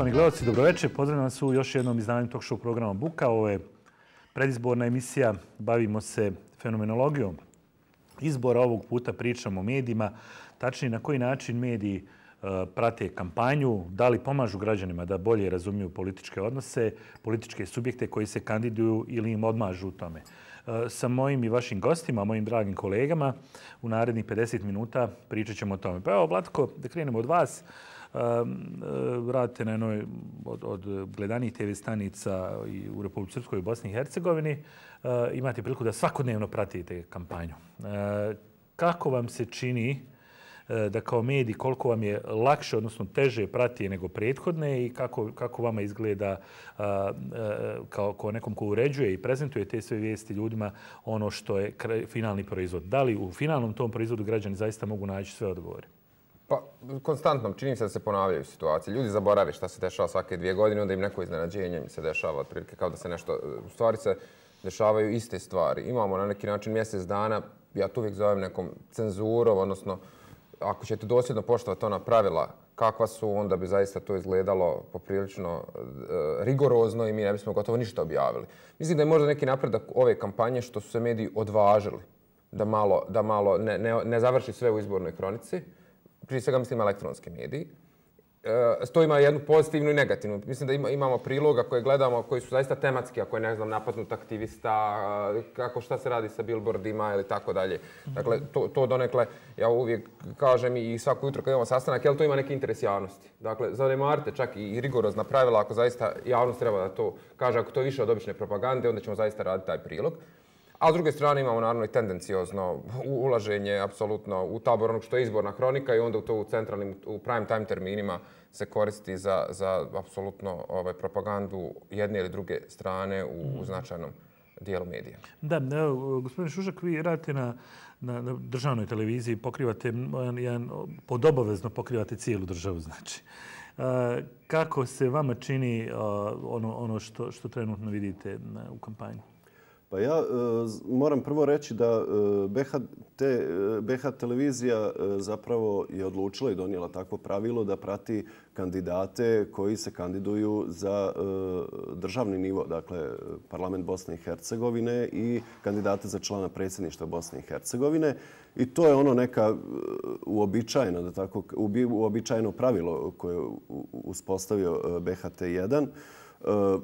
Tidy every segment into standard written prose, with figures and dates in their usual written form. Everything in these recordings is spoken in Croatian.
Poštovani gledalci, dobroveče. Pozdravljam vas u još jednom izdanju talk show programa Buka. Ovo je predizborna emisija. Bavimo se fenomenologijom izbora. Ovog puta pričamo o medijima. Tačnije, na koji način mediji prate kampanju, da li pomažu građanima da bolje razumiju političke odnose, političke subjekte koji se kandiduju ili im odmažu u tome. Sa mojim i vašim gostima, mojim dragim kolegama, u narednih 50 minuta pričat ćemo o tome. Pa evo, Vlatko, da krenemo od vas. Radite na jednoj od gledanih TV stanica u Republici Srpskoj i Bosni i Hercegovini. Imate priliku da svakodnevno pratite kampanju. Kako vam se čini da kao mediji, koliko vam je lakše, odnosno teže prati nego prethodne i kako vama izgleda kao nekom ko uređuje i prezentuje te sve vijesti ljudima ono što je finalni proizvod? Da li u finalnom tom proizvodu građani zaista mogu naći sve odgovore? Pa, konstantno čini se da se ponavljaju situacije. Ljudi zaborave šta se dešava svake 2 godine, onda im neko iznenađenje im se dešava, otprilike kao da se nešto... U stvari se dešavaju iste stvari. Imamo na neki način mjesec dana, ja to uvijek zovem nekom cenzurom, odnosno ako ćete dosljedno poštovati ona pravila kakva su, onda bi zaista to izgledalo poprilično rigorozno i mi ne bismo gotovo ništa objavili. Mislim da je možda neki napredak ove kampanje što su se mediji odvažili da malo ne završi sve u izbornoj kronici. Prije svega mislim elektronski mediji. To ima jednu pozitivnu i negativnu. Mislim da imamo priloga koje gledamo, koji su zaista tematski, ako je, ne znam, napadnut aktivista, šta se radi sa billboardima ili tako dalje. Dakle, to donekle, ja uvijek kažem i svako jutro kad imamo sastanak, jel to ima neki interes javnosti. Dakle, zanemarite čak i rigorozna pravila, ako zaista javnost treba da to kaže, ako to je više od obične propagande, onda ćemo zaista raditi taj prilog. A s druge strane imamo naravno i tendenciozno ulaženje apsolutno u tabor onog što je izborna hronika i onda to u prime time terminima se koristi za apsolutno propagandu jedne ili druge strane u značajnom dijelu medija. Da, gospodine Šušak, vi radite na državnoj televiziji, pokrivate podobovezno pokrivate cijelu državu, znači. Kako se vama čini ono što trenutno vidite u kampanji? Pa ja moram prvo reći da BH televizija zapravo je odlučila i donijela takvo pravilo da prati kandidate koji se kandiduju za državni nivo, dakle parlament Bosne i Hercegovine i kandidate za člana predsjedništva Bosne i Hercegovine. I to je ono neka uobičajeno pravilo koje je uspostavio BHT1.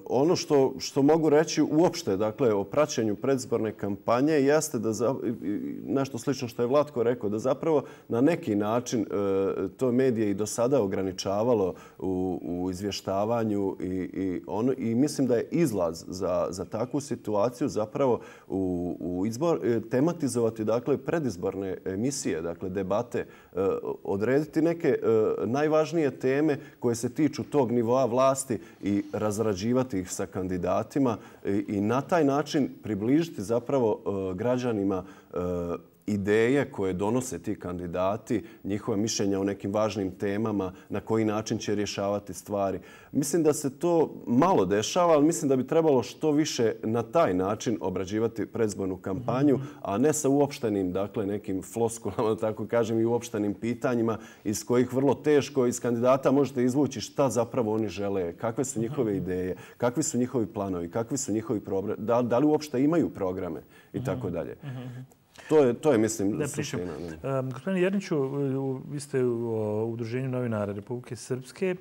Ono što mogu reći uopšte, dakle, o praćenju predizborne kampanje jeste da nešto slično što je Vlatko rekao, da zapravo na neki način to medije i do sada ograničavalo u izvještavanju i mislim da je izlaz za takvu situaciju zapravo u izbor tematizovati, dakle, predizborne emisije, dakle, debate, odrediti neke najvažnije teme koje se tiču tog nivoa vlasti i razrađivati ih sa kandidatima i na taj način približiti zapravo građanima ideje koje donose ti kandidati, njihove mišljenja o nekim važnim temama, na koji način će rješavati stvari. Mislim da se to malo dešava, ali mislim da bi trebalo što više na taj način obrađivati predizbornu kampanju, a ne sa uopštenim, dakle, nekim floskulama, da tako kažem, i uopštenim pitanjima iz kojih vrlo teško iz kandidata možete izvući šta zapravo oni žele, kakve su njihove ideje, kakvi su njihovi planovi, kakvi su njihovi programi, da li uopšte imaju programe i tako dalje. To je, mislim, suština. Gospodine Jerniću, vi ste u Udruženju novinara Republike Srpske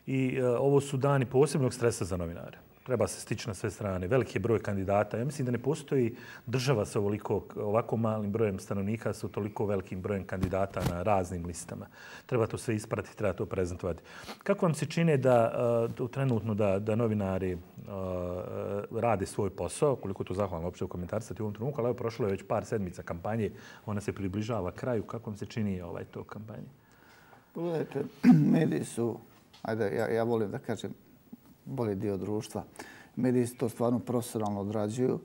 i ovo su dani posebnog stresa za novinare. Treba se stići na sve strane. Veliki je broj kandidata. Ja mislim da ne postoji država sa ovako malim brojem stanovnika sa toliko velikim brojem kandidata na raznim listama. Treba to sve ispratiti, treba to prezentovati. Kako vam se čine trenutno da novinari rade svoj posao, koliko to zahvalno uopće u komentarstati u ovom trenutku, ali evo prošlo je već par sedmica kampanje, ona se približava kraju. Kako vam se čini to kampanje? Pogledajte, mediji su, ja volim da kažem, bolji dio društva. Mediji to stvarno profesionalno odrađuju.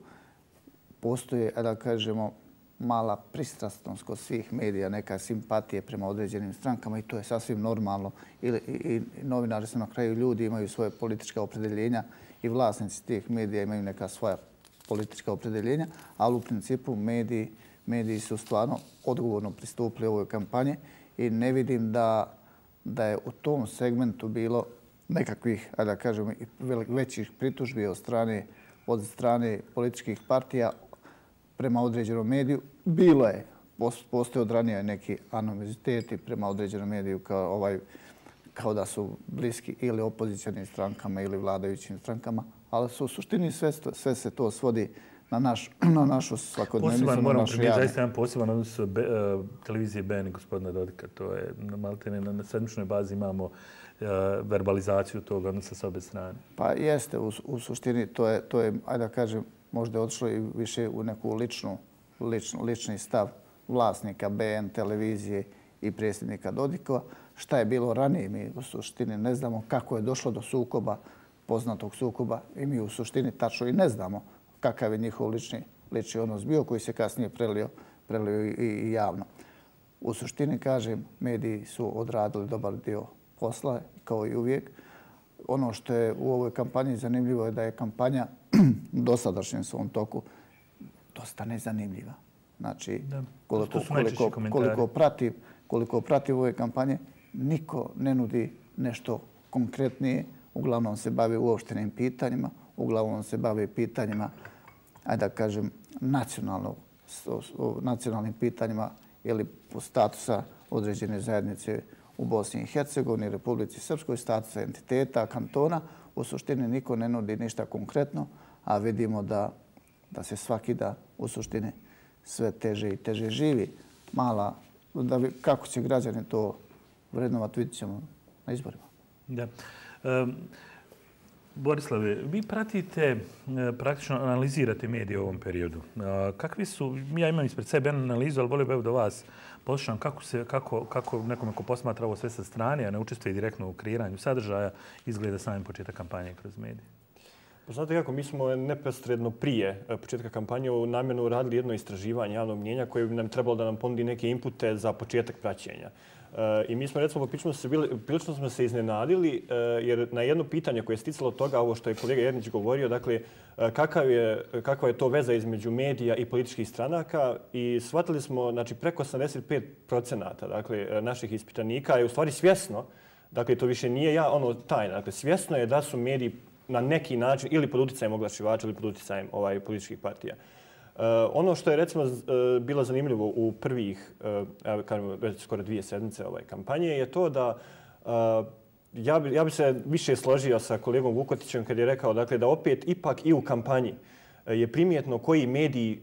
Postoje, da kažemo, mala pristrasnost kod svih medija, neka simpatije prema određenim strankama i to je sasvim normalno. I novinari su na kraju ljudi, imaju svoje politička opredjeljenja i vlasnici tih medija imaju neka svoja politička opredjeljenja, ali u principu mediji su stvarno odgovorno pristupili ovoj kampanji i ne vidim da je u tom segmentu bilo nekakvih, da kažemo, većih pritužbi od strane političkih partija prema određenom mediju. Bilo je, postoje od ranije neki animoziteti prema određenom mediju kao da su bliski ili opozicionim strankama ili vladajućim strankama, ali u suštini sve se to svodi na našu svakodnevnicu. Moramo primijeniti zaista jedan poseban odnos televizije BN i gospodina Dodika. To je maltene na sedmičnoj bazi imamo verbalizaciju toga odnosa sa obe strane. Pa jeste, u suštini to je, ajde da kažem, možda je otišlo i više u neku lični stav vlasnika BN televizije i predsjednika Dodikova. Šta je bilo ranije, mi u suštini ne znamo kako je došlo do sukoba, poznatog sukoba, i mi u suštini tačno i ne znamo kakav je njihov lični odnos bio, koji se kasnije prelio i javno. U suštini, kažem, mediji su odradili dobar dio posla, kao i uvijek. Ono što je u ovoj kampanji zanimljivo je da je kampanja u dosadašnjem svom toku dosta nezanimljiva. Znači, koliko pratim ove kampanje, niko ne nudi nešto konkretnije. Uglavnom se bave uopštenim pitanjima, uglavnom se bave pitanjima, ajde da kažem, nacionalnim pitanjima ili statusa određene zajednice u Bosni i Hercegovini, Republici Srpskoj, statusa entiteta, kantona. U suštini niko ne nudi ništa konkretno, a vidimo da se svaki dan u suštini sve teže i teže živi. Kako će građani to vrednovati, vidit ćemo na izborima. Da. Borislave, vi pratite, praktično analizirate medije u ovom periodu. Kakvi su, ja imam ispred sebe analizu, ali volio bih da vas poslušam kako nekome ko posmatra ovo sve sa strane, a ne učestvuje direktno u kreiranju sadržaja, izgleda sami početak kampanje kroz medije. Pa znate kako, mi smo neposredno prije početka kampanje namjerno uradili jedno istraživanje javnog mnijenja koje bi nam trebalo da nam ponudi neke inpute za početak praćenja. I mi smo, recimo, prilično smo se iznenadili jer na jedno pitanje koje je sticalo toga, ovo što je kolega Jernić govorio, dakle, kakva je to veza između medija i političkih stranaka, i shvatili smo, znači, preko 85% dakle, naših ispitanika je u stvari svjesno, dakle, to više nije tajna, dakle, svjesno je da su mediji na neki način ili pod utjecajem oglašivača ili pod utjecajem političkih partija. Ono što je, recimo, bilo zanimljivo u prvih, kažemo, već skoro 2 sedmice kampanje je to da ja bi se više složio sa kolegom Vukotićem kad je rekao, dakle, da opet ipak i u kampanji je primjetno koji mediji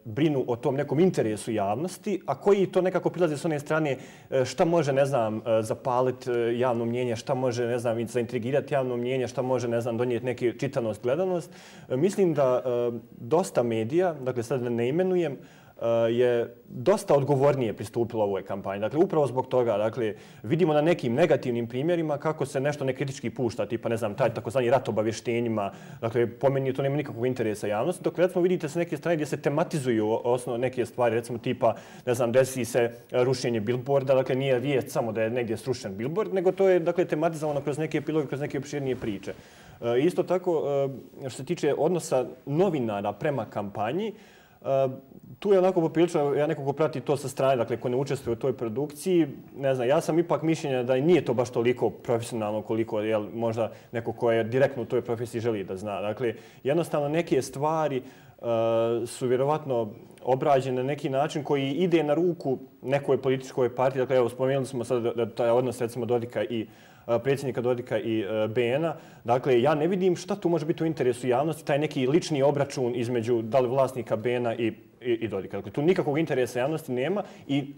brinu o tom nekom interesu javnosti, a koji to nekako prilaze s one strane šta može, ne znam, zapaliti javno mnijenje, šta može, ne znam, zaintrigirati javno mnijenje, šta može, ne znam, donijeti neki čitanost, gledanost. Mislim da dosta medija, dakle sad ne imenujem, je dosta odgovornije pristupilo ovoj kampanji. Dakle, upravo zbog toga, dakle, vidimo na nekim negativnim primjerima kako se nešto nekritički pušta, tipa, ne znam, taj takozvani rat obavještenjima. Dakle, po meni to nema nikakvog interesa javnosti. Dok, recimo, vidite sa neke strane gdje se tematizuju neke stvari, recimo, tipa, ne znam, desi se rušenje billboarda, dakle, nije vijest samo da je negdje srušen billboard, nego to je, dakle, tematizovano kroz neke epiloge, kroz neke opširnije priče. Isto tako, što se tiče odnosa novinara prema kampanji, tu je onako poprilično, ja neko ko prati to sa strane, dakle ko ne učestvuje u toj produkciji, ne znam, ja sam ipak mišljenja da nije to baš toliko profesionalno koliko možda neko ko je direktno u toj profesiji želi da zna. Dakle, jednostavno neke stvari su vjerovatno obrađene na neki način koji ide na ruku nekoj političkoj partiji. Dakle, evo, spomenuli smo sad da taj odnos, recimo, Dodika i predsjednika Dodika i BN-a. Dakle, ja ne vidim šta tu može biti u interesu javnosti, taj neki lični obračun između da li vlasnika BN-a i Dodika. Dakle, tu nikakvog interesa javnosti nema i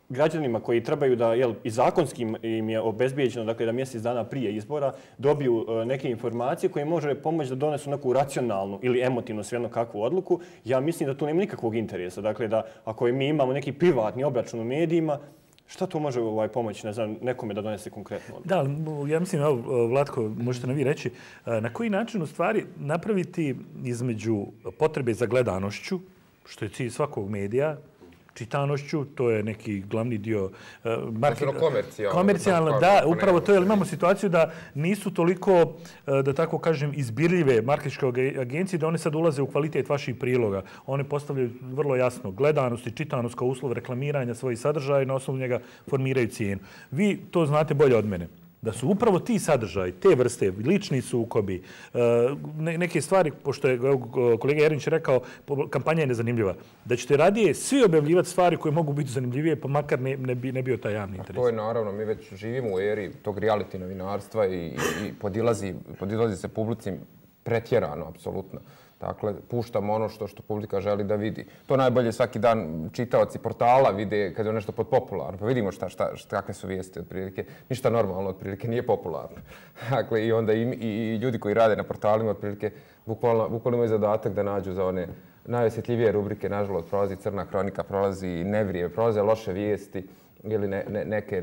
građanima koji trebaju da, i zakonskim im je obezbijeđeno, dakle, da mjesec dana prije izbora dobiju neke informacije koje može pomoći da donesu neku racionalnu ili emotivnu svejedno kakvu odluku. Ja mislim da tu nema nikakvog interesa. Dakle, da ako mi imamo neki privatni obračun u medijima, šta to može pomoći, ne znam, nekome da donese konkretno? Da, ja mislim, Vlatko, možete nam vi reći, na koji način u stvari napraviti između potrebe za gledanošću, što je cilj svakog medija, čitanošću, to je neki glavni dio komercijalno, da, upravo to, jer imamo situaciju da nisu toliko, da tako kažem, izbirljive marketinške agencije, da one sad ulaze u kvalitet vaših priloga. One postavljaju vrlo jasno gledanost i čitanost kao uslov reklamiranja svojih sadržaja i na osnovu njega formiraju cijenu. Vi to znate bolje od mene. da su upravo ti sadržaji, te vrste, lični sukobi, neke stvari, pošto je kolega Jerinić rekao, kampanja je nezanimljiva, da ćete radije svi objavljivati stvari koje mogu biti zanimljivije, pa makar ne bio taj javni interes. To je naravno, mi već živimo u eri tog reality novinarstva i podilazi se publici pretjerano, apsolutno. Dakle, puštamo ono što publika želi da vidi. To najbolje svaki dan čitaoci portala vide kad je nešto podpopularno. Pa vidimo kakve su vijesti otprilike. Ništa normalno otprilike nije popularno. Dakle, i onda i ljudi koji rade na portalima otprilike bukvalno imaju zadatak da nađu za one najosjetljivije rubrike. Nažalost, prolazi Crna kronika, prolazi Nevrije, prolaze loše vijesti ili neke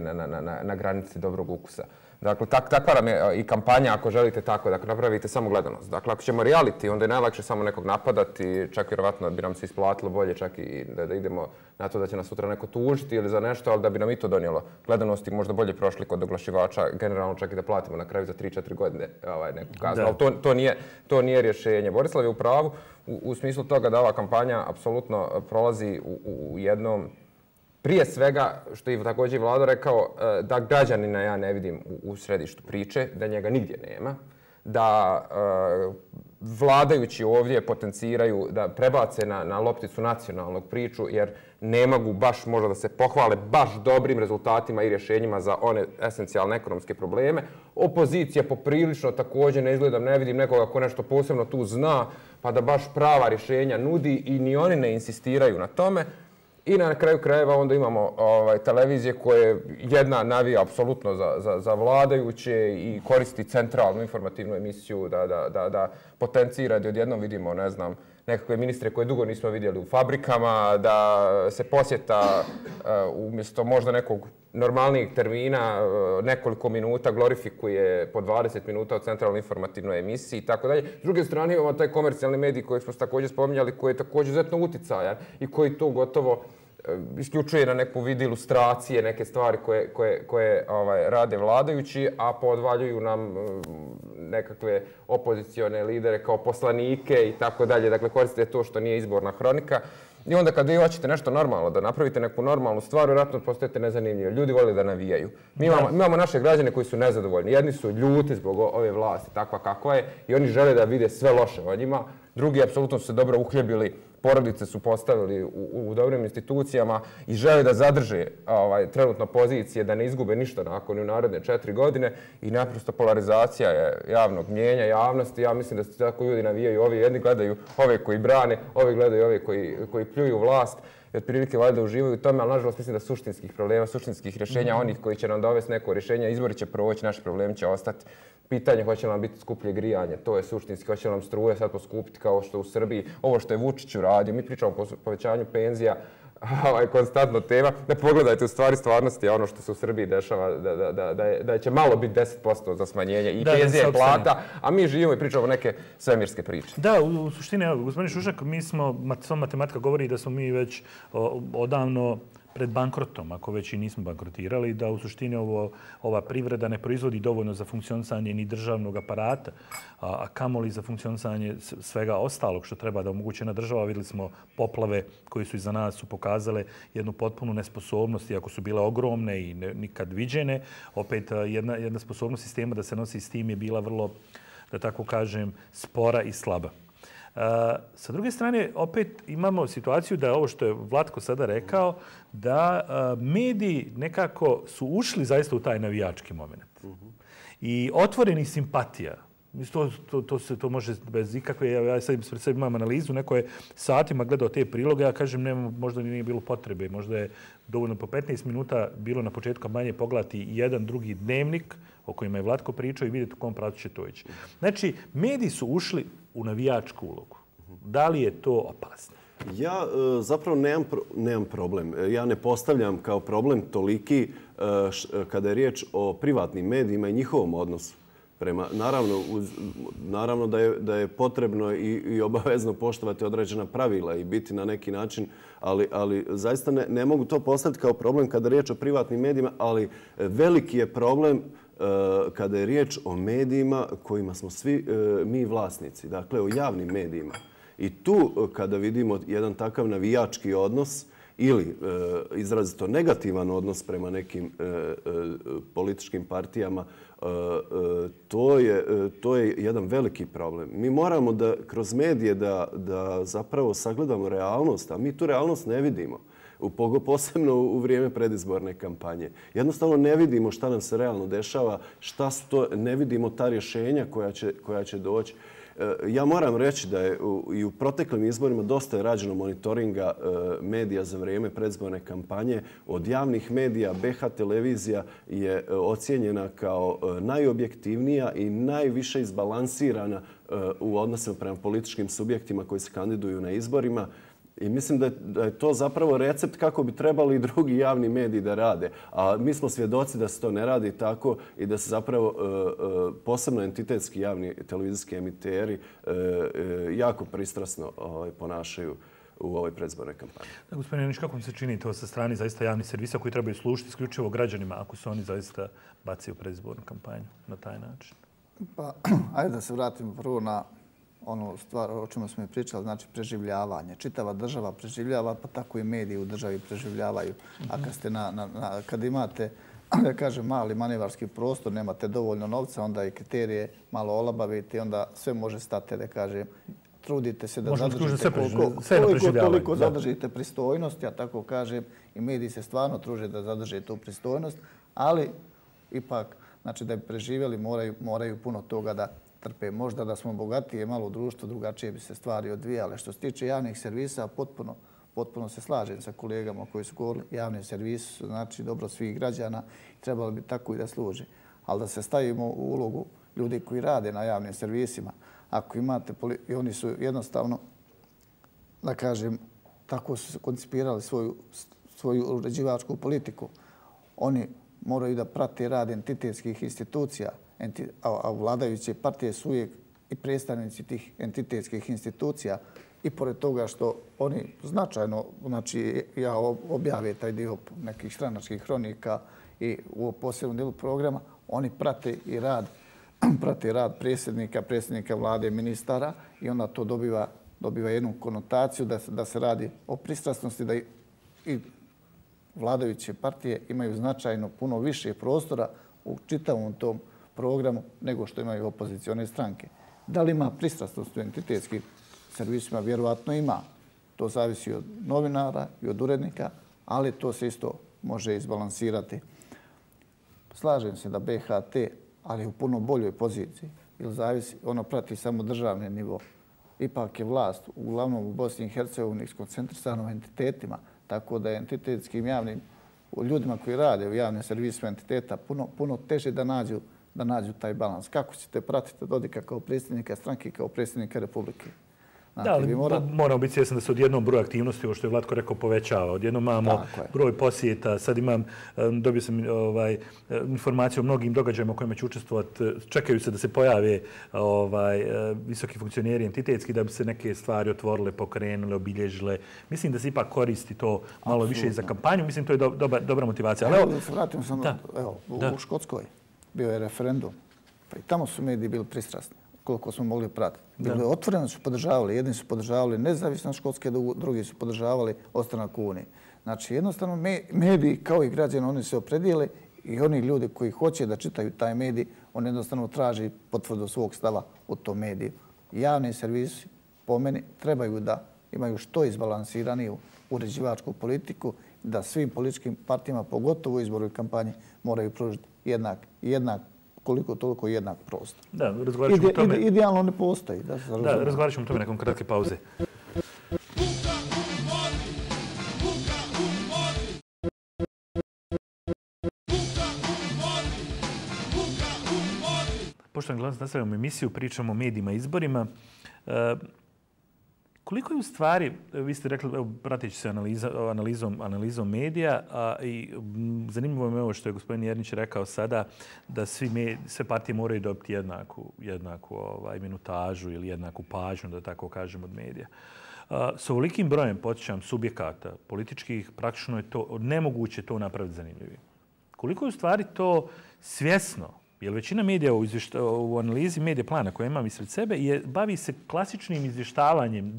na granici dobrog ukusa. Dakle, takva nam je i kampanja, ako želite tako, da napravite samo gledanost. Dakle, ako ćemo reality, onda je najlakše samo nekog napadati, čak vjerovatno bi nam se isplatilo bolje, čak i da idemo na to da će nas sutra neko tužiti ili za nešto, ali da bi nam i to donijelo gledanosti, možda bolje prošli kod oglašivača, generalno čak i da platimo na kraju za 3-4 godine neku kaznu. Ali to nije rješenje. Borislav je u pravu u smislu toga da ova kampanja apsolutno prolazi u jednom. Prije svega, što je također Vlado rekao, da građanina ja ne vidim u središtu priče, da njega nigdje nema, da vladajući ovdje potenciraju da prebace na lopticu nacionalnog priču, jer ne mogu baš možda da se pohvale baš dobrim rezultatima i rješenjima za one esencijalne ekonomske probleme. Opozicija poprilično također ne vidim nekoga ko nešto posebno tu zna, pa da baš prava rješenja nudi i ni oni ne insistiraju na tome. I na kraju krajeva onda imamo televizije koje jedna navija apsolutno za vladajuće i koristi centralnu informativnu emisiju da potencira da odjednom vidimo, ne znam, nekakve ministre koje dugo nismo vidjeli u fabrikama, da se posjeta umjesto možda nekog normalnijeg termina nekoliko minuta glorifikuje po 20 minuta od centralnoj informativnoj emisiji i tako dalje. S druge strane imamo taj komercijalni medij koji smo također spominjali, koji je također izuzetno uticajan i koji to gotovo isključuje na neku vid ilustracije, neke stvari koje rade vladajući, a podvaljuju nam nekakve opozicione lidere kao poslanike i tako dalje. Dakle, koristite to što nije izborna hronika. I onda kad vi hoćete nešto normalno, da napravite neku normalnu stvar, vjerojatno postajete nezanimljivi. Ljudi vole da navijaju. Mi imamo naše građane koji su nezadovoljni. Jedni su ljuti zbog ove vlasti, takva kakva je, i oni žele da vide sve loše o njima. Drugi apsolutno su se dobro uhljebili, porodice su postavili u dobrim institucijama i žele da zadrže trenutno pozicije, da ne izgube ništa nakon u naredne 4 godine. I naprosto polarizacija je javnog mnijenja, javnosti. Ja mislim da se tako ljudi navijaju. Ovi jedni gledaju ove koji brane, ovi gledaju ove koji pljuju vlast. I otprilike valjda uživaju u tome, ali nažalost mislim da suštinskih problema, suštinskih rješenja, onih koji će nam dovesti neko rješenje, izbori će proći, naši problemi će ostati. Pitanje hoće li nam biti skuplje grijanje, to je suštinski, hoće li nam struje sad poskupiti kao što u Srbiji, ovo što je Vučić uradio, mi pričamo o povećanju penzija, konstantno tema. Ne pogledajte u stvarnosti ono što se u Srbiji dešava, da će malo biti 10% za smanjenje i penzija i plata, a mi živimo i pričamo neke svemirske priče. Da, u suštini, evo, gospodin Šušak, sva matematika govori da smo mi već odavno pred bankrotom, ako već i nismo bankrotirali, da u suštini ova privreda ne proizvodi dovoljno za funkcionisanje ni državnog aparata, a kamoli za funkcionisanje svega ostalog što treba da omogući jedna država. Vidjeli smo poplave koje su iza nas su pokazale jednu potpunu nesposobnost, iako su bile ogromne i nikad viđene. Opet jedna sposobnost sistema da se nosi s tim je bila vrlo, da tako kažem, spora i slaba. Sa druge strane, opet imamo situaciju da ovo što je Vlatko sada rekao, da mediji nekako su ušli zaista u taj navijački moment. I otvoreni simpatija. To može bez ikakve, ja sad pred sebi imam analizu, neko je satima gledao te priloge, ja kažem možda nije bilo potrebe, možda je dovoljno po 15 minuta bilo na početku kampanje pogledati jedan drugi dnevnik o kojima je Vlatko pričao i vidjeti u kom pravcu će to ići. Znači, mediji su ušli u navijačku ulogu. Da li je to opasno? Ja zapravo nemam problem. Ja ne postavljam kao problem toliki kada je riječ o privatnim medijima i njihovom odnosu. Naravno da je potrebno i obavezno poštovati određena pravila i biti na neki način, ali zaista ne mogu to postaviti kao problem kada je riječ o privatnim medijima, ali veliki je problem kada je riječ o medijima kojima smo svi mi vlasnici, dakle o javnim medijima. I tu kada vidimo jedan takav navijački odnos ili izrazito negativan odnos prema nekim političkim partijama, to je jedan veliki problem. Mi moramo da kroz medije da zapravo sagledamo realnost, a mi tu realnost ne vidimo. Posebno u vrijeme predizborne kampanje. Jednostavno ne vidimo šta nam se realno dešava, ne vidimo ta rješenja koja će doći. Ja moram reći da je i u proteklim izborima dosta je rađeno monitoringa medija za vrijeme predizborne kampanje. Od javnih medija BH televizija je ocijenjena kao najobjektivnija i najviše izbalansirana u odnosima prema političkim subjektima koji se kandiduju na izborima. I mislim da je to zapravo recept kako bi trebali i drugi javni mediji da rade. A mi smo svjedoci da se to ne radi tako i da se zapravo posebno entitetski javni televizijski emiteri jako pristrasno ponašaju u ovoj predizbornoj kampanji. Gospodine Janić, kako vam se čini to sa strane zaista javnih servisa koji trebaju služiti isključivo građanima ako se oni zaista bacaju u predizbornu kampanju na taj način? Pa, ajde da se vratimo prvo na onu stvar o čemu smo i pričali, znači preživljavanje. Čitava država preživljava, pa tako i mediji u državi preživljavaju. A kad imate, da kažem, mali manevarski prostor, nemate dovoljno novca, onda i kriterije malo olabavite, onda sve može stati, da kažem, trudite se da zadržite koliko toliko zadržite pristojnost, ja tako kažem, i mediji se stvarno truže da zadrže tu pristojnost, ali ipak, znači da bi preživjeli moraju puno toga da trpe. Možda da smo bogatije malo u društvu, drugačije bi se stvari odvijale. Što se tiče javnih servisa, potpuno se slažem sa kolegama koji su govorili. Javni servis su znači dobro svih građana i trebalo bi tako i da služi. Ali da se stavimo u ulogu ljudi koji rade na javnim servisima, ako imate, i oni su jednostavno, da kažem, tako su koncipirali svoju uređivačku politiku. Oni moraju da prate rad entitetskih institucija, a vladajuće partije su uvijek i predstavnici tih entitetskih institucija i pored toga što oni značajno, znači ja objave taj dio nekih stranačkih hronika i u posebnom dijelu programa, oni prate rad predsjednika vlade, ministara i onda to dobiva jednu konotaciju da se radi o pristrasnosti, da i vladajuće partije imaju značajno puno više prostora u čitavom tom programu nego što imaju opozicione stranke. Da li ima pristrasnost u entitetskim servisima? Vjerovatno ima. To zavisi od novinara i od urednika, ali to se isto može izbalansirati. Slažem se da BHT, ali u puno boljoj poziciji, jer zavisi, ono prati samo državni nivo. Ipak je vlast, uglavnom u Bosni i Hercegovini, skoncentrisana u entitetima, tako da je entitetskim javnim ljudima koji rade u javnim servisima entiteta puno teže da nađu taj balans. Kako ćete pratiti Dodika kao predsjednika stranke, kao predsjednika Republike? Da, ali moramo biti svjesni da se odjednom broj aktivnosti, ovo što je Vlatko rekao, povećava. Odjednom imamo broj posjeta. Sad dobio sam informaciju o mnogim događajima u kojima će učestvovati. Čekaju se da se pojave visoki funkcioneri entitetski da bi se neke stvari otvorile, pokrenule, obilježile. Mislim da se ipak koristi to malo više i za kampanju. Mislim to je dobra motivacija. Ali da se vratim samo, u Škotskoj bio je referendum. Pa i tamo su mediji bili pristrasni, koliko smo mogli pratiti. Otvoreno su podržavali. Jedni su podržavali nezavisnost Škotske, drugi su podržavali ostanak u Uniji. Znači, jednostavno mediji, kao i građani, oni se opredijele i oni ljudi koji hoće da čitaju taj medij, oni jednostavno traži potvrdu svog stava u tom mediju. Javni servisi, po meni, trebaju da imaju što izbalansiraniju uređivačku politiku, da svim političkim partijama, pogotovo u izboru i kampanji, moraju pružiti jednak koliko toliko jednak prostor. Da, razgovarat ćemo o tome. Idealno ne postoji. Da, razgovarat ćemo o tome nakon kratke pauze. Poštovani gledalci, nastavljamo emisiju, pričamo o medijima i izborima. Koliko je u stvari, vi ste rekli, prateći se analizom medija, i zanimljivo je ovo što je gospodin Jernić rekao sada, da sve partije moraju dobiti jednaku minutažu ili jednaku pažnju, da tako kažem, od medija. S ovolikim brojem, podsjećam, subjekata političkih, praktično je to nemoguće to napraviti zanimljivim. Koliko je u stvari to svjesno jer većina medija u analizi medija plana koje imam ispred sebe bavi se klasičnim izvještavanjem,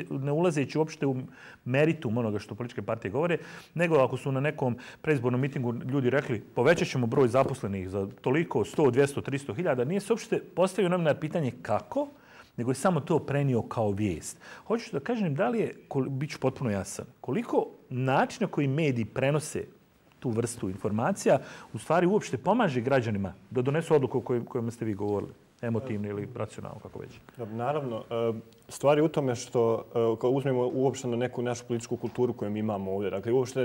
ne ulazeći uopšte u meritum onoga što političke partije govore, nego ako su na nekom predizbornom mitingu ljudi rekli povećat ćemo broj zaposlenih za toliko, 100, 200, 300 hiljada, nije se uopšte postavio novinar pitanje kako, nego je samo to prenio kao vijest. Hoću da kažem da li je, bit ću potpuno jasan, koliko načina koji mediji prenose tu vrstu informacija u stvari uopšte pomaže građanima da donesu odluku o kojima ste vi govorili, emotivno ili racionalno, kako već. Naravno, stvar je u tome što ako uzmemo uopšte na neku našu političku kulturu koju mi imamo ovdje, dakle uopšte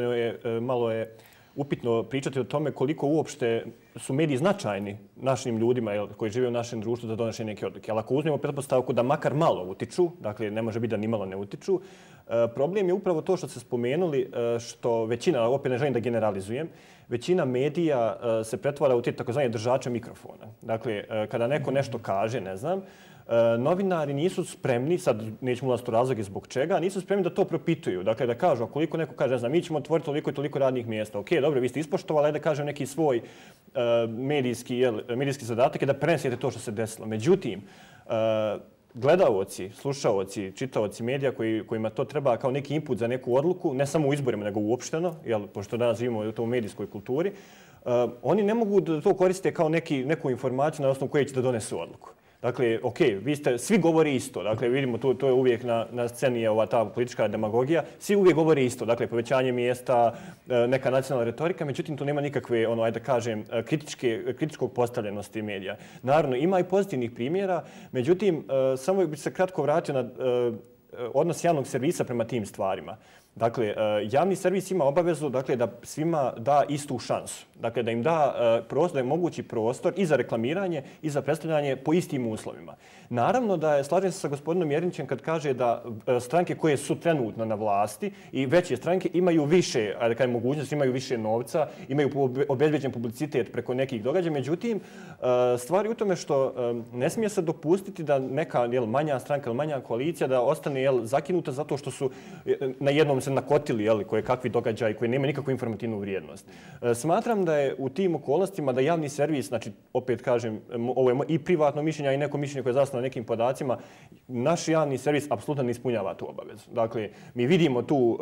malo je upitno pričati o tome koliko uopšte su mediji značajni našim ljudima koji žive u našem društvu za donošenje neke odluke. Ali ako uzmemo pretpostavku da makar malo utiču, dakle ne može biti da nimalo ne utiču, problem je upravo to što ste spomenuli, što većina, opet ne želim da generalizujem, većina medija se pretvara u te takozvane držače mikrofona. Dakle, kada neko nešto kaže, ne znam, novinari nisu spremni, sad nećemo ulaziti u razloge zbog čega, nisu spremni da to propituju. Dakle, da kažu, ako neko kaže, ne znam, mi ćemo otvoriti toliko i toliko radnih mjesta. Ok, dobro, vi ste ispoštovali, da kažem neki svoj medijski zadatak je da prenesete to što se desilo. Međutim, gledaoci, slušaoci, čitaoci medija kojima to treba kao neki input za neku odluku, ne samo u izborima, nego uopšteno, pošto danas živimo u toj medijskoj kulturi, oni ne mogu da to koriste kao neku informaciju na osnovu koje će da donesu odluku. Dakle, ok, svi govori isto. Dakle, vidimo, to je uvijek na sceni ta politička demagogija. Svi uvijek govori isto. Dakle, povećanje mjesta, neka nacionalna retorika, međutim, to nema nikakve, ajde kažem, kritičkog postavljenosti medija. Naravno, ima i pozitivnih primjera, međutim, samo bih se kratko vratio na odnos javnog servisa prema tim stvarima. Dakle, javni servis ima obavezu da svima da istu šansu. Dakle, da im da je mogući prostor i za reklamiranje i za predstavljanje po istim uslovima. Naravno da slažem se sa gospodinom Jerinićem kad kaže da stranke koje su trenutno na vlasti i veće stranke imaju više mogućnosti, imaju više novca, imaju obezbeđen publicitet preko nekih događaja. Međutim, stvar je u tome što ne smije se dopustiti da neka manja stranka ili manja koalicija da ostane zakinuta zato što su na jednom se nakotili koje kakvi događaji koji nemaju nikakvu informativnu vrijednost. Smatram da je u tim okolnostima da javni servis, znači opet kažem, ovo je i privatno mišljenje, a i neko mišljenje koje je zasnovano na nekim podacima, naš javni servis apsolutno ne ispunjava tu obavezu. Dakle, mi vidimo tu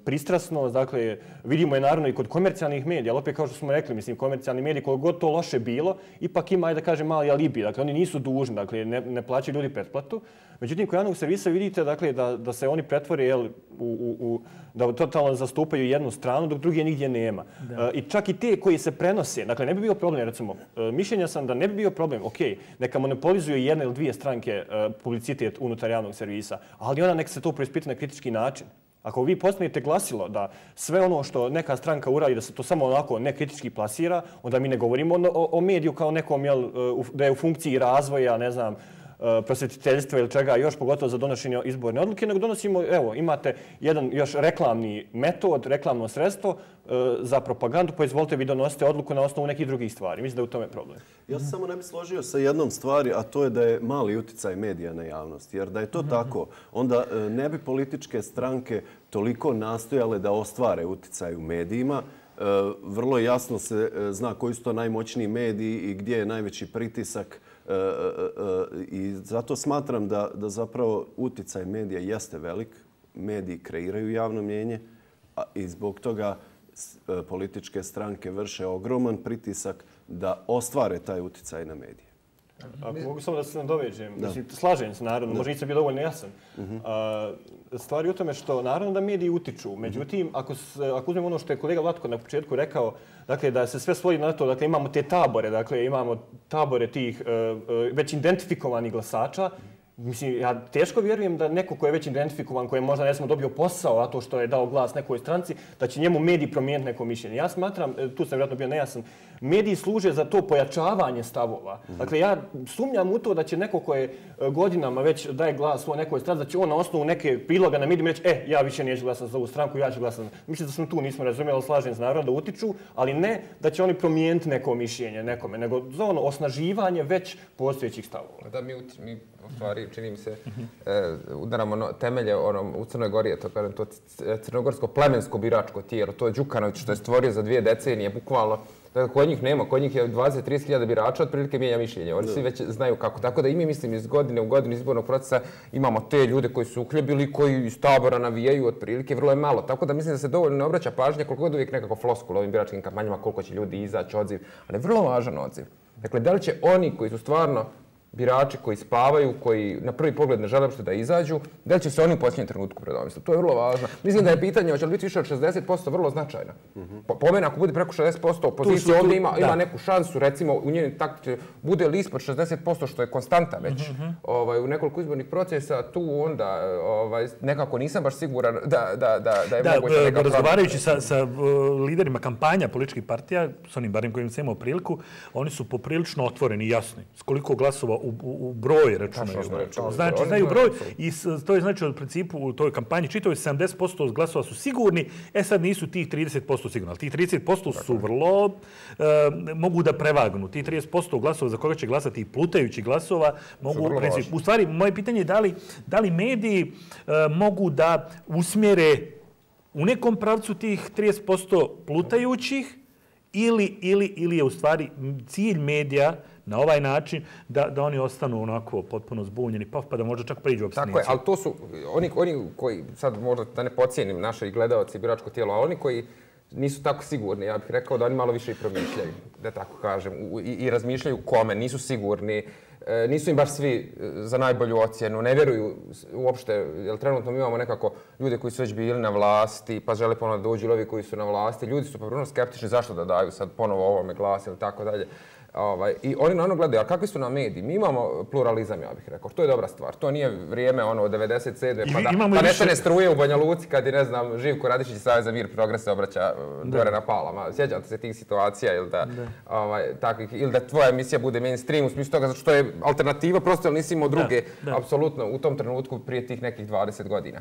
pristrasnost, dakle, vidimo je naravno i kod komercijalnih medija, ali opet kao što smo rekli, mislim, komercijalni mediji, koliko god to loše bilo, ipak ima, da kažem, mali alibi. Dakle, oni nisu dužni, dakle, ne plaćaju ljudi pretplatu. Međutim, kod javnog servisa vidite da se oni pretvore da totalno zastupaju jednu stranu, dok druge nigdje nema. I čak i te koji se prenose, dakle, ne bi bio problem, recimo, mišljenja sam da ne bi bio problem, ok, neka monopolizuju jedna ili dvije stranke publicitet unutar javnog servisa, ali onda neka se to preispita na kritički način. Ako vi postavite glasilo da sve ono što neka stranka uradi, da se to samo onako nekritički plasira, onda mi ne govorimo o mediju kao nekom, da je u funkciji razvoja, ne znam, prosvjetiteljstva ili čega, još pogotovo za donošenje izborne odluke, nego donosimo, evo, imate jedan još reklamni metod, reklamno sredstvo za propagandu, pa izvolite vi donosite odluku na osnovu nekih drugih stvari. Mislim da je u tome problem. Ja se samo ne bih složio sa jednom stvari, a to je da je mali uticaj medija na javnost. Jer da je to tako, onda ne bi političke stranke toliko nastojale da ostvare uticaj u medijima. Vrlo jasno se zna koji su to najmoćniji mediji i gdje je najveći pritisak. I zato smatram da zapravo uticaj medija jeste velik. Mediji kreiraju javno mnijenje i zbog toga političke stranke vrše ogroman pritisak da ostvare taj uticaj na medije. Ako mogu samo da se nadovežem, slažem se naravno, možda nisam bio dovoljno jasan. Stvar je u tome što naravno da mediji utiču, međutim, ako uzmemo ono što je kolega Vlatko na početku rekao, dakle da se sve svodi na to, dakle imamo te tabore, dakle imamo tabore tih već identifikovanih glasača. Mislim, ja teško vjerujem da neko ko je već identifikovan, ko je možda ne samo dobio posao, zato što je dao glas nekoj stranci, da će njemu mediji promijeniti neko mišljenje. Ja smatram, tu sam vjerojatno bio nejasan, mediji služe za to pojačavanje stavova. Dakle, ja sumnjam u to da će neko ko je godinama već daje glas svoj nekoj stranci, da će on na osnovu neke priloga na medijima reći, ja više neću glasati za ovu stranku, ja ću glasati. Mislim da smo tu nismo razumjeli, ali slažem se naravno da utiču, ali ne da će oni promijeniti neko mišljenje nekome, nego za ono osnaživanje već postojećih stavova. Da mi u stvari, čini mi se, udaramo temelje u Crnoj Gori, to crnogorsko plemensko biračko tijelo, to je Đukanović što je stvorio za 2 decenije, bukvalno Dakle, kod njih nema, kod njih je 20-30 hiljada birača, otprilike mijenja mišljenje. Oni svi već znaju kako. Tako da i mi, mislim, iz godine u godinu izbornog procesa imamo te ljude koji su uhljebili, koji iz tabora navijaju otprilike, vrlo je malo. Tako da mislim da se dovoljno ne obraća pažnja, koliko god uvijek nekako floskula ovim biračkim kampanjama, koliko će ljudi izaći, odziv, ali je vrlo važan odziv. Dakle, da li će oni koji su stvarno birači koji spavaju, koji na prvi pogled ne žele uopšte da izađu, da li će se oni u posljednjem trenutku predomisliti? To je vrlo važno. Mislim da je pitanje hoće li biti više od 60% vrlo značajno. Po mene, ako bude preko 60%, opozicija ovdje ima neku šansu, recimo u njenim taktici bude li ispod 60%, što je konstanta već u nekoliko izbornih procesa, tu onda nekako nisam baš siguran da je moguće nekako... Razgovarajući sa liderima kampanja političkih partija, s onim barem kojim sam imao priliku, oni su poprilično otvoreni i jasni. S koliko glasova u broj računaju. Znači, znaju broj i to je znači u principu u toj kampanji čitavoj 70% glasova su sigurni, sad nisu tih 30% sigurni, ali tih 30% su vrlo, mogu da prevagnu. Tih 30% glasova za koga će glasati i plutajući glasova mogu, u stvari, moje pitanje je da li mediji mogu da usmjere u nekom pravcu tih 30% plutajućih ili je u stvari cilj medija na ovaj način da oni ostanu onako potpuno zbunjeni, pa da možda čak priđu opstinijci. Tako je, ali to su oni koji, sad možda da ne podcijenim naše gledalci i biračko tijelo, ali oni koji nisu tako sigurni, ja bih rekao da oni malo više i promišljaju, da tako kažem, i razmišljaju kome, nisu sigurni, nisu im baš svi za najbolju ocjenu, ne vjeruju uopšte, jer trenutno mi imamo nekako ljude koji su već bili na vlasti, pa žele ponovno da dođu ovi koji su na vlasti, ljudi su poprilično skeptični zašto da daju sad ponovo ovome glas ili tako dalje. I oni na ono gledaju, a kakvi su nam mediji? Mi imamo pluralizam, ja bih rekao. To je dobra stvar. To nije vrijeme od 97. pa nestane struje u Banja Luci kad je, ne znam, Živko Radišić iz Saveza Mir Progres se obraća gore na Palama. Sjećate se tih situacija ili da tvoja emisija bude mainstream u smislu toga zato što je alternativa, prosto jer nisi imao druge, apsolutno, u tom trenutku prije tih nekih 20 godina.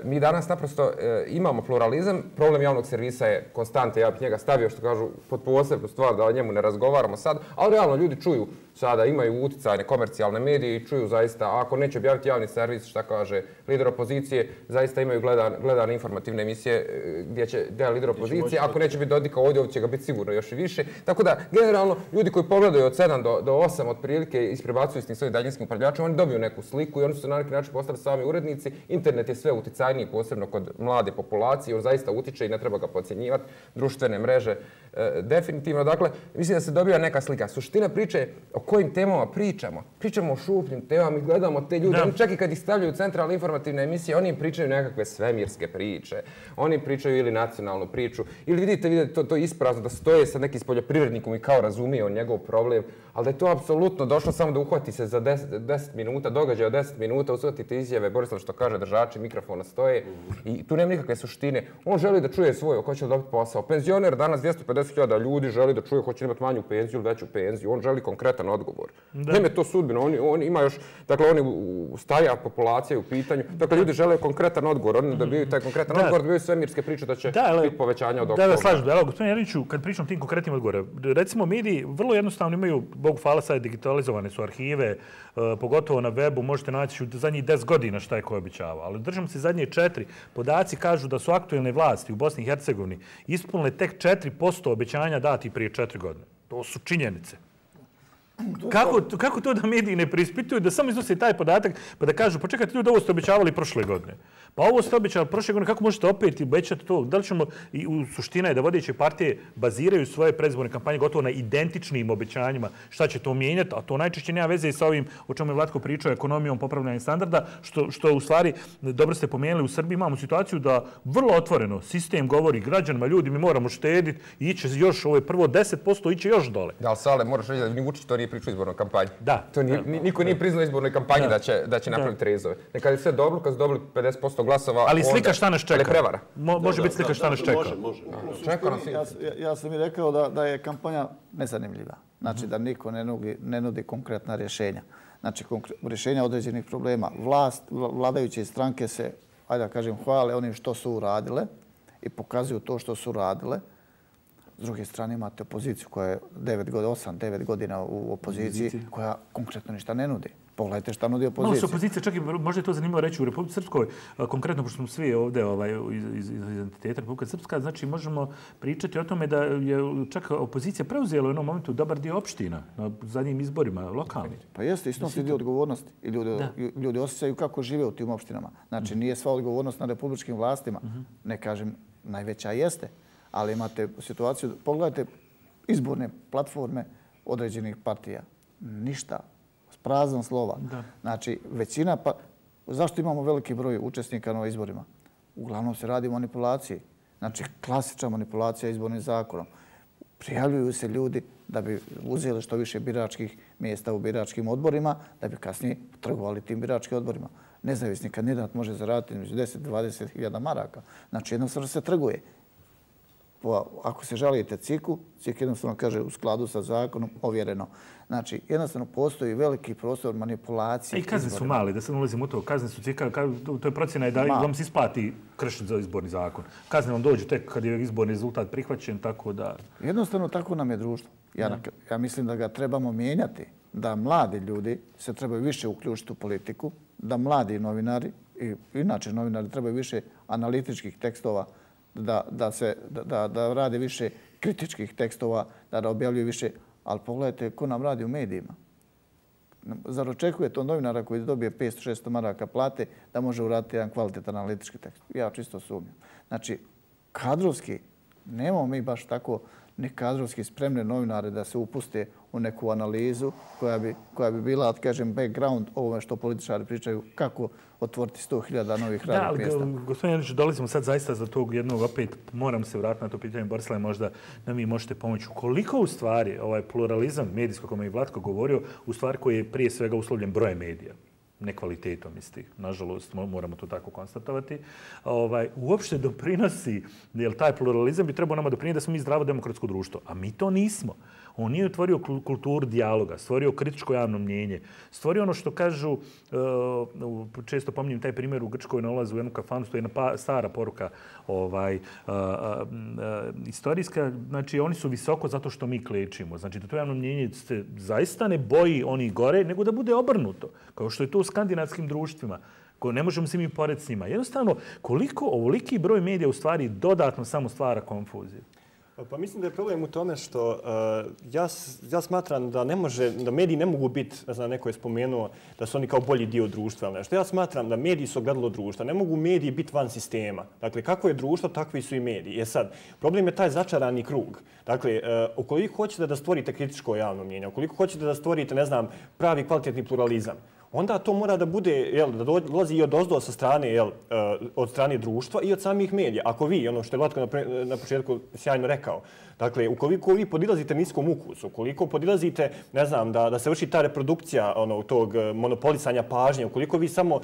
Mi danas naprosto imamo pluralizam, problem javnog servisa je konstanta, ja bih njega stavio što kažu pod posebnu stvar da o njemu ne razgovaramo sad, ali realno ljudi čuju sada, imaju uticajne komercijalne medije i čuju zaista, ako neće objaviti javni servis, šta kaže lider opozicije, zaista imaju gledane informativne emisije gdje će lider opozicije, ako neće biti Dodika ovdje će ga biti sigurno još i više. Tako da, generalno, ljudi koji pogledaju od 7 do 8 otprilike isprebacuju s tim svojim daljinskim upravljačima, oni dobiju neku sliku i oni su na neki način postali sami urednici. Internet je sve uticajniji, posebno kod mlade populacije, on zaista utiče i ne treba ga podcjenjivati. Društvene mreže, definitivno. Dakle, mislim da se dobija neka slika. Suština priče je o kojim temama pričamo. Pričamo o šupljim temama i gledamo te ljude. Oni čak i kad ih stavljaju u centralne informativne emisije, oni im pričaju nekakve svemirske priče. Oni pričaju ili nacionalnu priču. Ili vidite to isprazno da stoje sa nekim poljoprivrednikom i kao razumije on njegov problem. Ali da je to apsolutno došlo samo da uhvati se za 10 minuta, događaj od 10 minuta, usvatite izjave, Borislav što kaže, držači mikrofona stoje i tu nema nikakve suštine. On želi da čuje svoje, hoće li dobiti posao. Penzioner danas 250.000 ljudi želi da čuje hoće li imati manju penziju ili veću penziju. On želi konkretan odgovor. Nema je to sudbino. On ima još, dakle, oni starija populacija u pitanju. Dakle, ljudi žele konkretan odgovor. Oni dobiju taj konkretan odgovor, dobiju svemirske priče da će biti povećanja od oktobra. Da, slažem. Evo, gospodine Jeremiću, kad pričam tim konkretnim odgovorima, recimo mediji vrlo jednostavno imaju, Bogu hvala, sad digitalizovane su arhive, pogotovo na webu, možete naći u zadnjih 10 godina šta je ko obećavao. Ali držimo se zadnje 4. Podaci kažu da su aktuelne vlasti u Bosni i Hercegovini ispunile tek 4% obećanja dati prije 4 godine. To su činjenice. Kako to da mediji ne preispituju, da samo iznose taj podatak pa da kažu, pa čekajte ljudi, ovo ste obećavali prošle godine. Pa ovo ste obećali prošle godine, kako možete opet obećati to? Da li ćemo, i u suština je da vodeće partije baziraju svoje predizborne kampanje gotovo na identičnim obećanjima, šta će to mijenjati, a to najčešće nema veze i sa ovim o čemu je Vlatko pričao, ekonomijom, popravljanja standarda, što u stvari, dobro ste pomenuli, u Srbiji imamo situaciju da vrlo otvoreno sistem govori građanima, ljudi, mi moramo štediti, iće još, ovo je prvo 10%, iće još dole. Da, ali Sale, moraš reći da ni Vučić to nije pričao u izbornoj kampanji. Da. Niko nije priznao izbornoj kampanji da će napraviti rezove. Kad je sve dobro, kad su dobili 50% glasova, ali slika šta nas čeka. Ali prevara. Može biti slika šta nas čeka. Ja sam i rekao da je kampanja nezanimljiva. Znači da niko ne nudi konkretna rješenja. Znači rješenja određenih problema. Vladajuće stranke se, ajde da kažem, hvale onim što su uradile i pokazuju to što su uradile. S druge strane imate opoziciju koja je 8-9 godina u opoziciji koja konkretno ništa ne nudi. Pogledajte šta nudi Malo se opozicija. opozicija, čak i možda je to zanimljivo reći u Republici Srpskoj, konkretno pošto smo svi ovdje iz identiteta Republika Srpska, znači možemo pričati o tome da je čak opozicija preuzela u jednom momentu dobar dio opština na zadnjim izborima lokalnim. Pa jeste, isto se dio odgovornosti i ljudi osjećaju kako žive u tim opštinama. Znači nije sva odgovornost na republičkim vlastima, ne kažem najveća jeste, ali imate situaciju, pogledajte izborne platforme određenih partija. Ništa. Prazan slova. Znači, većina, pa zašto imamo veliki broj učesnika na izborima? Uglavnom se radi o manipulaciji. Znači, klasična manipulacija izbornim zakonom. Prijavljuju se ljudi da bi uzeli što više biračkih mjesta u biračkim odborima, da bi kasnije trgovali tim biračkim odborima. Nezavisni kandidat može zaraditi među 10-20 hiljada maraka. Znači, jednostavno se trguje. Ako se žalite CIK-u, CIK jednostavno kaže u skladu sa zakonom, ovjereno. Znači, jednostavno postoji veliki prostor manipulacije. I kazne su mali, da se ne ulazimo u to. Kazne su CIK-a, to je procjena da vam se isplati kršiti za izborni zakon. Kazne vam dođu tek kad je izborni rezultat prihvaćen, tako da... Jednostavno tako nam je društvo. Ja mislim da ga trebamo mijenjati, da mladi ljudi se trebaju više uključiti u politiku, da mladi novinari, i inače novinari trebaju više analitičkih tekstova, da rade više kritičkih tekstova, da objavljuju više, ali pogledajte ko nam radi u medijima. Zar očekujete od novinara koji dobije 500-600 maraka plate da može uraditi jedan kvalitetan analitički tekst? Ja čisto sumnjam. Znači, kadrovski, nemamo mi baš tako ni kadrovski spremne novinare da se upuste u neku analizu koja bi bila, kažem, background ovome što političari pričaju kako otvoriti 100.000 novih radnih mjesta. Da, gospodin Janić, dolazimo sad zaista za tog jednog, opet moram se vratiti na to pitanje, Borislav, možda nam vi možete pomoći. Koliko u stvari ovaj pluralizam medijskog, kome je Vlatko govorio, u stvari koji je prije svega uslovljen brojem medija, ne kvalitetom istih, nažalost, moramo to tako konstatovati, uopšte doprinosi, jer taj pluralizam bi trebao nama doprinijeti da smo mi zdravo demokratsko društvo, a mi to nismo. On nije otvorio kulturu dijaloga, stvorio kritičko javno mnjenje, stvorio ono što kažu, često pominjem taj primjer u Grčkoj na ulazu u jednu kafanu, to je jedna stara poruka istorijska, znači oni su visoko zato što mi klečimo. Znači da to javno mnjenje se zaista ne boji onih gore, nego da bude obrnuto, kao što je to u skandinavskim društvima, koje ne možemo se mi pored s njima. Jednostavno, koliko ovoliki broj medija u stvari dodatno samo stvara konfuziju? Pa mislim da je problem u tome što ja smatram da da mediji ne mogu biti, ne znam, neko je spomenuo da su oni kao bolji dio društva. Nešto. Ja smatram da mediji su ogledalo društva. Ne mogu mediji biti van sistema. Dakle, kako je društvo, takvi su i mediji. Sad, problem je taj začarani krug. Dakle, ukoliko hoćete da stvorite kritičko javno mnjenje, ukoliko hoćete da stvorite, ne znam, pravi kvalitetni pluralizam, onda to mora da bude, da dolazi i odozdo sa strane, od strane društva i od samih medija. Ako vi, ono što je Vlatko na početku sjajno rekao, dakle, ukoliko vi podilazite niskom ukusu, ukoliko podilazite, ne znam, da se vrši ta reprodukcija tog monopolisanja pažnje, ukoliko vi samo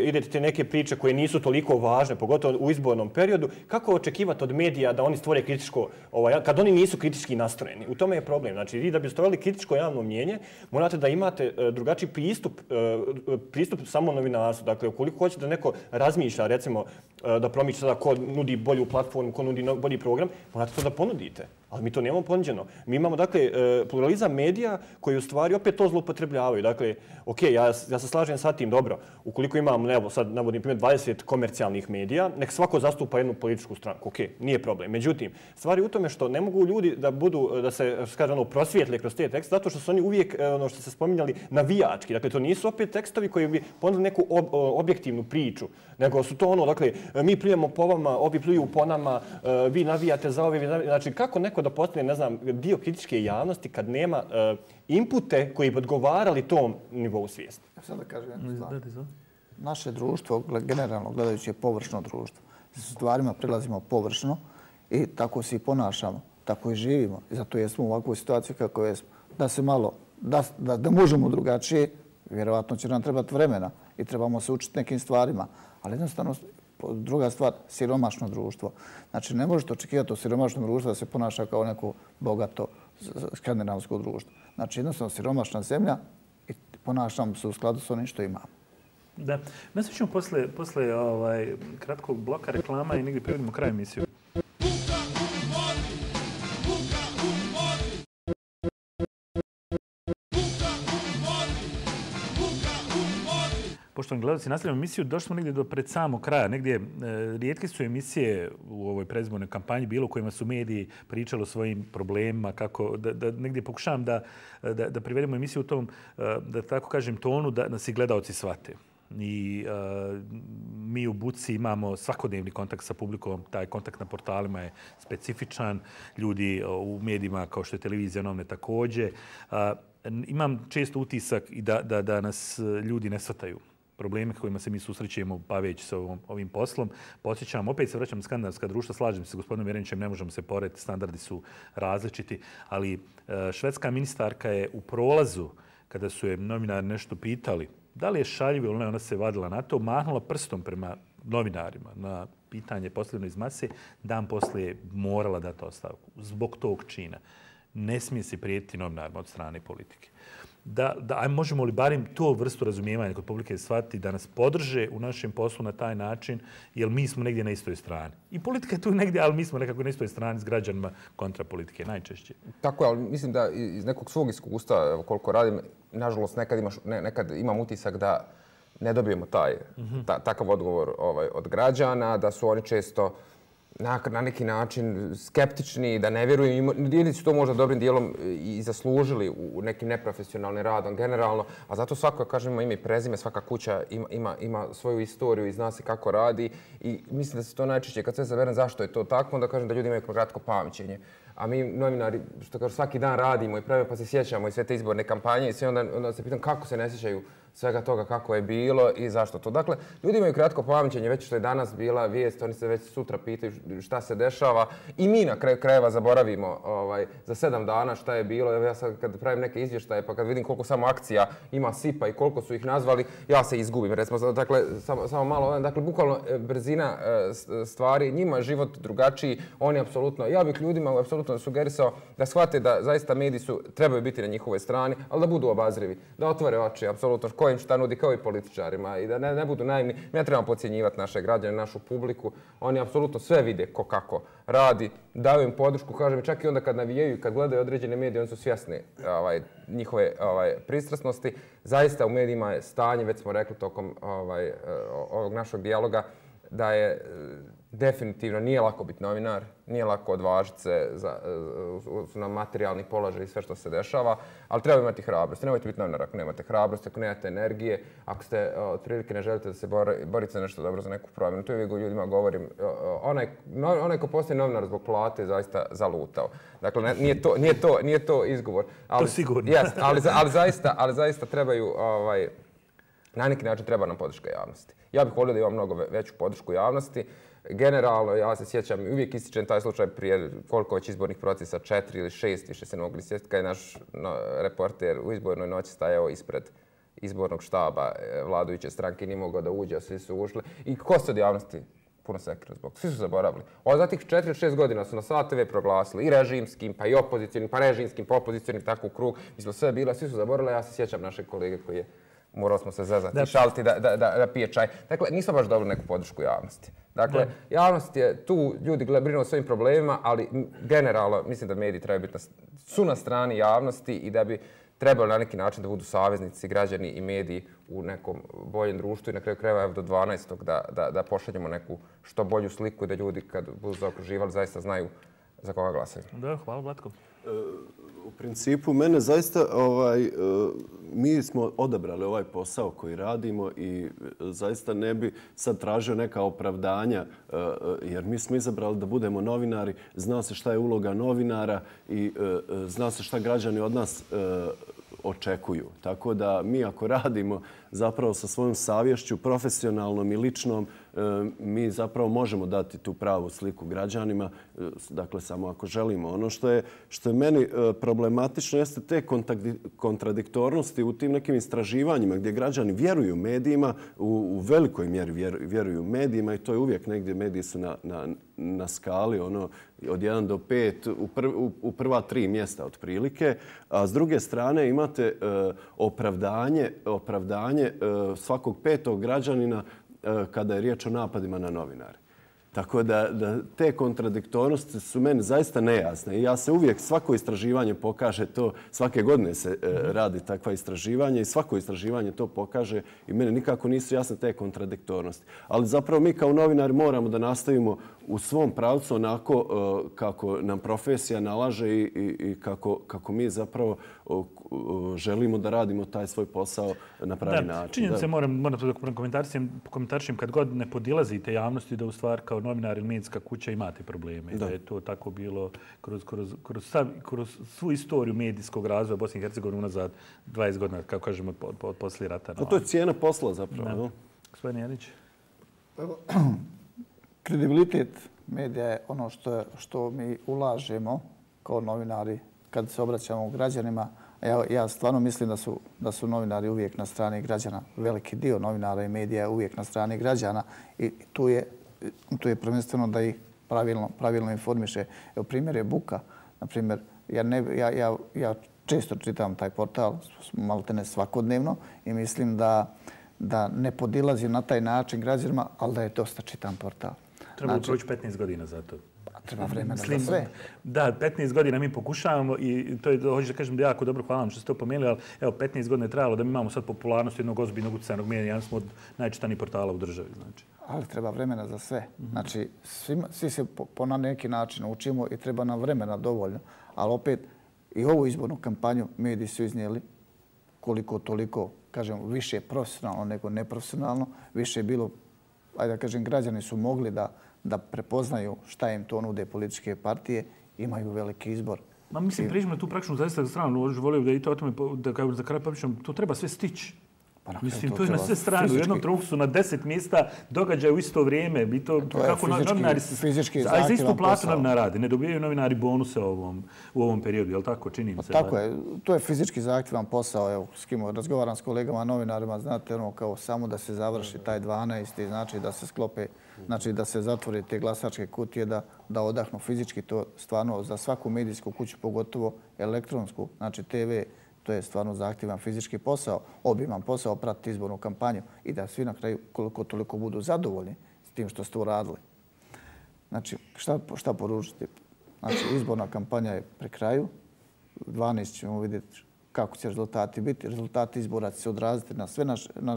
idete te neke priče koje nisu toliko važne, pogotovo u izbornom periodu, kako očekivati od medija da oni stvore kritičko, kad oni nisu kritički nastrojeni? U tome je problem. Znači, vi da bi stvorili kritičko javno mnjenje, morate da imate drugačiji pristup samo novinarstvu. Dakle, ukoliko hoćete da neko razmišlja, recimo, da promiče sada ko nudi bolju platformu, ko nudi bolji program, morate to da ponudite. Ali mi to nemamo ponuđeno. Mi imamo, dakle, pluralizam medija koji u stvari opet to zloupotrebljavaju. Dakle, ja se slažem sa tim, dobro, ukoliko imam, evo, sad navodim primjer 20 komercijalnih medija, nek svako zastupa jednu političku stranku. Nije problem. Međutim, stvar je u tome što ne mogu ljudi da se, prosvijetle kroz te tekste, zato što su oni uvijek, ono što se spominjali, navijački. Dakle, to nisu opet tekstovi koji bi ponudili neku objektivnu priču, nego su to dakle, mi pljujemo po vama, ovi pljuju po nama, vi navijate za ove, znači kako neko da postane, ne znam, dio kritičke javnosti kad nema inpute koji bi odgovarali tom nivou svijesti. Sad da kažem jednu stvar. Naše društvo, generalno gledajući, je površno društvo. S stvarima prilazimo površno i tako se i ponašamo, tako i živimo. I zato jesmo u ovakvoj situaciji kako jesmo. Da se malo, da možemo drugačije, vjerovatno će nam trebati vremena i trebamo se učiti nekim stvarima. Ali jednostavno, druga stvar, siromašno društvo. Znači, ne možete očekivati od siromašnog društva da se ponaša kao neko bogato skandinavsko društvo. Znači, jednostavno, siromašna zemlja i ponašamo se u skladu s onim što imamo. Da. Nastavit ćemo posle kratkog bloka reklama i negdje privodimo kraj emisiju. Buka poštovani gledalci, nastavljamo emisiju. Došli smo negdje do pred samog kraja. Negdje rijetke su emisije u ovoj predizbornoj kampanji bilo u kojima su mediji pričali o svojim problemima, kako da negdje pokušavam da privedemo emisiju u tom, da tako kažem, tonu da nas i gledaoci shvate. I mi u Buci imamo svakodnevni kontakt sa publikom, taj kontakt na portalima je specifičan, ljudi u medijima kao što je televizija Novne također. Imam često utisak i da nas ljudi ne shvataju probleme kojima se mi susrećemo baveći se ovim poslom. Podsjećam, opet se vraćam na skandinavska društva, slažem se s gospodinom Jerenićem, ne možemo se porediti, standardi su različiti, ali švedska ministarka je u prolazu, kada su je novinari nešto pitali, da li je šaljivo ili ne, ona se vadila na to, mahnula prstom prema novinarima na pitanje postavljeno iz mase, dan poslije morala dati ostavku zbog tog čina. Ne smije se prijetiti novinarima od strane politike. Možemo li barem to vrstu razumijevanja kod publike shvatiti da nas podrže u našem poslu na taj način, jer mi smo negdje na istoj strani. I politika je tu negdje, ali mi smo nekako na istoj strani s građanima kontra politike, najčešće. Tako je, ali mislim da iz nekog svog iskustva, koliko radim, nažalost nekad imam utisak da ne dobijemo takav odgovor od građana, da su oni često na neki način skeptični, da ne vjeruju. Ili su to možda dobrim dijelom i zaslužili u nekim neprofesionalnim radom generalno, a zato svako, kažemo, ime i prezime, svaka kuća ima svoju istoriju i zna se kako radi i mislim da se to najčešće, kad sve zaberem zašto je to tako, onda kažem da ljudi imaju kratko pamćenje. A mi novinari, što kažu, svaki dan radimo i pravimo pa se sjećamo i sve te izborne kampanje i sve onda se pitam kako se ne sjećaju svega toga kako je bilo i zašto to. Dakle, ljudi imaju kratko pamćenje, već što je danas bila vijest, oni se već sutra pitaju šta se dešava i mi na kraju krajeva zaboravimo za 7 dana šta je bilo. Evo ja sad kad pravim neke izvještaje pa kad vidim koliko samo akcija ima SIP-a i koliko su ih nazvali, ja se izgubim. Recimo, dakle, samo malo, dakle, bukvalno brzina stvari, njima je život drugačiji, oni apsolutno, ja bih ljudima apsolutno sugerisao da shvate da zaista mediji trebaju biti na njihovoj strani, ali da budu obazrivi, da otvore oči, apsolutno, ko im šta nudi, kao i političarima i da ne budu naivni. Mi ne trebamo podcjenjivati naše građane, našu publiku. Oni apsolutno sve vide ko kako radi, daju im podršku, kažem, čak i onda kad navijaju i kad gledaju određene medije, oni su svjesni njihove pristrasnosti. Zaista u medijima je stanje, već smo rekli tokom ovog našeg dijaloga, da je definitivno nije lako biti novinar, nije lako odvažiti se na materijalni položaj i sve što se dešava, ali treba imati hrabrost. Nemojte biti novinar ako nemate hrabrost, ako nemate energije, ako ste otprilike ne želite da se borite za nešto dobro, za neku promjenu. To uvijek ljudima govorim. Onaj ko postaje novinar zbog plate je zaista zalutao. Dakle, nije to izgovor. To sigurno. Ali zaista trebaju, na neki način treba nam podrška javnosti. Ja bih volio da imam mnogo veću podršku javnosti. Generalno, ja se sjećam, uvijek ističem taj slučaj prije koliko već izbornih procesa, 4 ili 6, više se ne mogli sjetiti, kad je naš reporter u izbornoj noći stajao ispred izbornog štaba vladajuće stranke, nije mogao da uđe, a svi su ušli. I ko se od javnosti puno sekira zbog? Svi su zaboravili. Za tih 4 ili 6 godina su na Sat TV proglasili i režimskim, pa i opozicionim, pa režimskim, pa opozicionim, tako u krug. Mi smo sve bila, svi su zaboravili, ja se sjećam našeg kolege koji je morao smo se zezati i šaliti da pije čaj. Dakle, nismo baš dobili neku podršku javnosti. Dakle, javnost je tu, ljudi brinu o svojim problemima, ali generalno mislim da mediji trebaju biti su na strani javnosti i da bi trebali na neki način da budu saveznici, građani i mediji u nekom boljem društvu i na kraju krajeva do 12. da pošaljemo neku što bolju sliku i da ljudi kad budu zaokruživali zaista znaju za koga glasaju. Da, hvala Vlatko. U principu, mene zaista, mi smo odabrali ovaj posao koji radimo i zaista ne bi sad tražio neka opravdanja, jer mi smo izabrali da budemo novinari, zna se šta je uloga novinara i zna se šta građani od nas očekuju. Tako da mi ako radimo zapravo sa svojom savješću, profesionalnom i ličnom, mi zapravo možemo dati tu pravu sliku građanima, dakle samo ako želimo. Ono što je meni problematično jeste te kontradiktornosti u tim nekim istraživanjima gdje građani vjeruju medijima, u velikoj mjeri vjeruju medijima i to je uvijek negdje, mediji su na skali od 1 do 5 u prva 3 mjesta otprilike, a s druge strane imate opravdanje svakog 5. građanina kada je riječ o napadima na novinare. Tako da te kontradiktornosti su meni zaista nejasne. I ja se uvijek, svako istraživanje pokaže to, svake godine se radi takva istraživanje i svako istraživanje to pokaže i meni nikako nisu jasne te kontradiktornosti. Ali zapravo mi kao novinari moramo da nastavimo u svom pravcu onako kako nam profesija nalaže i kako mi zapravo želimo da radimo taj svoj posao na pravi način. Činjenica moram to komentarišem kad god ne podilazite javnosti da u stvari kao novinar ili medijska kuća imate probleme. Da je to tako bilo kroz svu istoriju medijskog razvoja Bosne i Hercegovine unazad 20 godina, kako kažemo, od poslije rata. To je cijena posla zapravo. Gospodin Janić. Kredibilitet medija je ono što mi ulažemo kao novinari kad se obraćamo građanima. Ja stvarno mislim da su novinari uvijek na strani građana. Veliki dio novinara i medija je uvijek na strani građana i tu je prvenstveno da ih pravilno informiše. Evo, primjer je buka. Naprimjer, ja često čitam taj portal, maltene svakodnevno, i mislim da ne podilazi na taj način građanima, ali da je dosta čitan portal. Treba proći 15 godina za to. Treba vremena za sve. Da, 15 godina mi pokušavamo i to je, hoću da kažem da jako dobro, hvala vam što ste to pomenuli, ali evo, 15 godina je trajalo da mi imamo sad popularnost jednog ozbiljnog utjecajnog medija, jedan smo od najčitanijih portala u državi. Znači. Ali treba vremena za sve. Znači, svi se na neki način učimo i treba nam vremena dovoljno. Ali opet, i ovu izbornu kampanju mediji su iznijeli koliko toliko, kažem, više profesionalno nego neprofesionalno. Više je bilo, ajde da kažem, građani su mogli da prepoznaju šta im to nude političke partije, imaju veliki izbor. Mislim, priđemo tu praktično zaista stranu. Volio da i to o tome, da kao za kraj popričam, to treba sve stići. Mislim, to je na sve strane. U jednom trenutku su na 10 mjesta događaja u isto vrijeme. To je fizički zahtjevan posao. A za istu platu novinar radi. Ne dobijaju novinari bonuse u ovom periodu, je li tako? Čini mi se. Tako je. To je fizički zahtjevan posao. Evo, s kim razgovaram s kolegama novinarima, znate, kao samo da se završi taj 12. znači da se sklope, znači da se zatvore te glasačke kutije, da odahnu fizički. To stvarno za svaku medijsku kuću, pogotovo elektronsku, znači TV, to je stvarno zahtjevan fizički posao, obiman posao, pratiti izbornu kampanju i da svi na kraju koliko toliko budu zadovoljni s tim što ste uradili. Znači, šta poručiti? Znači, izborna kampanja je pri kraju. 12 ćemo vidjeti kako će rezultati biti. Rezultati izbora će se odraziti na sve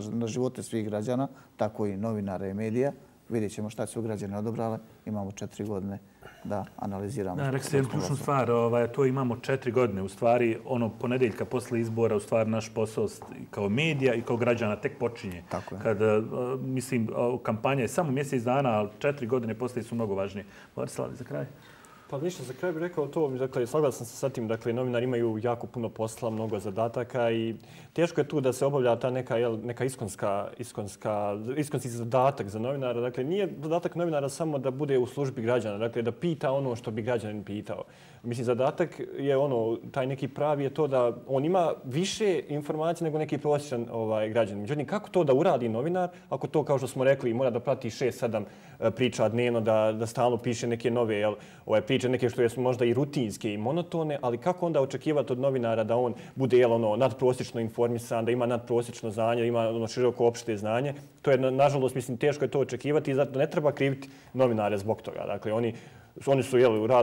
na živote svih građana, tako i novinara i medija. Vidjet ćemo šta su građani odobrali. Imamo 4 godine da analiziramo. Da, rekli ste jednu ključnu stvar, to imamo 4 godine. U stvari, ponedeljka posle izbora, u stvari naš posao kao medija i kao građana tek počinje. Tako je. Kada, mislim, kampanja je samo mjesec dana, ali 4 godine poslije su mnogo važnije. Borislav, za kraj. Pa ništa, za kraj bih rekao to, dakle, saglasan sam sa tim, dakle, novinari imaju jako puno posla, mnogo zadataka i teško je tu da se obavlja ta neka iskonski zadatak za novinara. Dakle, nije zadatak novinara samo da bude u službi građana, dakle, da pita ono što bi građanin pitao. Mislim, zadatak je taj neki pravi je to da on ima više informacija nego neki prosječan građanin. Međutim, kako to da uradi novinar, ako to, kao što smo rekli, mora da prati 6-7 priča dnevno, da stalno piše neke nove priče, neke što su možda i rutinske i monotone, ali kako onda očekivati od novinara da on bude nadprosječno informisan, da ima nadprosječno znanje, da ima široko opšte znanje. To je, nažalost, mislim, teško je to očekivati i zato ne treba kriviti novinare zbog toga. Dakle, oni su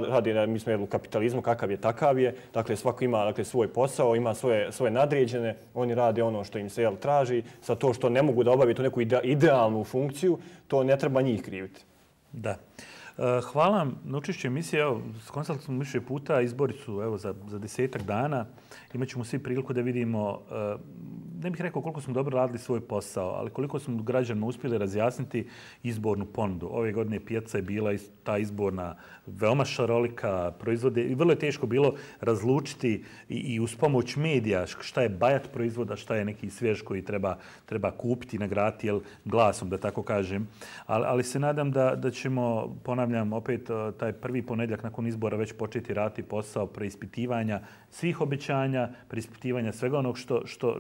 radi, mi smo u kapitalizmu, kakav je, takav je. Dakle, svako ima svoj posao, ima svoje nadređene, oni rade ono što im se traži. Sa to što ne mogu da obaviti tu neku idealnu funkciju, to ne treba njih kriviti. Da. Hvala vam na učešću emisije. Evo, konsultali smo više puta, izbori su za 10-ak dana. Imaćemo svi priliku da vidimo, ne bih rekao koliko smo dobro radili svoj posao, ali koliko smo građanima uspjeli razjasniti izbornu ponudu. Ove godine pijaca je bila ta izborna veoma šarolika, proizvode i vrlo je teško bilo razlučiti i uz pomoć medija šta je bajat proizvoda, šta je neki svjež koji treba kupiti, nagraditi glasom, da tako kažem. Ali se nadam da ćemo, ponavljam, opet taj prvi ponedjeljak nakon izbora već početi raditi posao preispitivanja svih obećanja, preispitivanja svega onog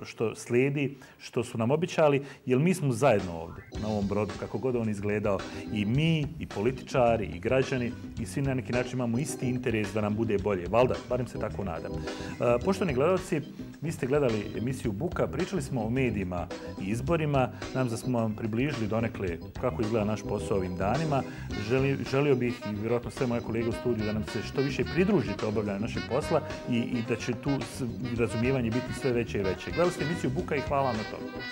što slijedi, što su nam obećali, jer mi smo zajedno ovdje na ovom brodu, kako god on izgledao, i mi, i političari, i građani, i svi na neki način imamo isti interes da nam bude bolje. Valjda, barem se tako nadam. Poštovani gledalci, Vi ste gledali emisiju Buka, pričali smo o medijima i izborima. Nam da smo vam približili donekle kako izgleda naš posao ovim danima. Želio bih i vjerojatno sve moje kolege u studiju da nam se što više pridružite obavljanju našeg posla i da će tu razumijevanje biti sve veće i veće. Gledali ste emisiju Buka i hvala vam na tome.